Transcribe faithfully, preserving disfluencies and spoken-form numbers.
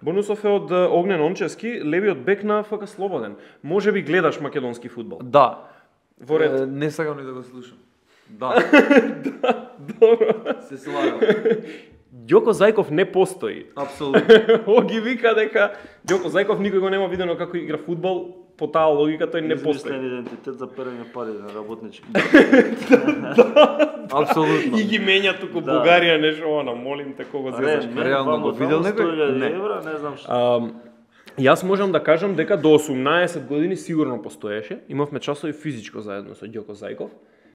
Бонусов е од е, Огнен Ончевски, левиот бек на ФК Слободен. Може би гледаш македонски фудбал. Да. Во ред. Е, не сакам ни да го слушам. Да. Да, добро. Се слагам. Ѓоко Зајков не постои. Апсолутно. Оги вика дека Ѓоко Зајков никој го нема видено како игра фудбал, по таа логика тој не постои. Измислен идентитет за перење пари на работнички. Апсолутно. И ги менја туку Да. Бугарија, нешто она, молим те кого зезаш. Не, Реално го видел некој? Не. Не. Евра, не знам што. А, јас можам да кажам дека до осумнаесет години сигурно постоеше. Имавме часови физичко заедно со Ѓоко Зајков.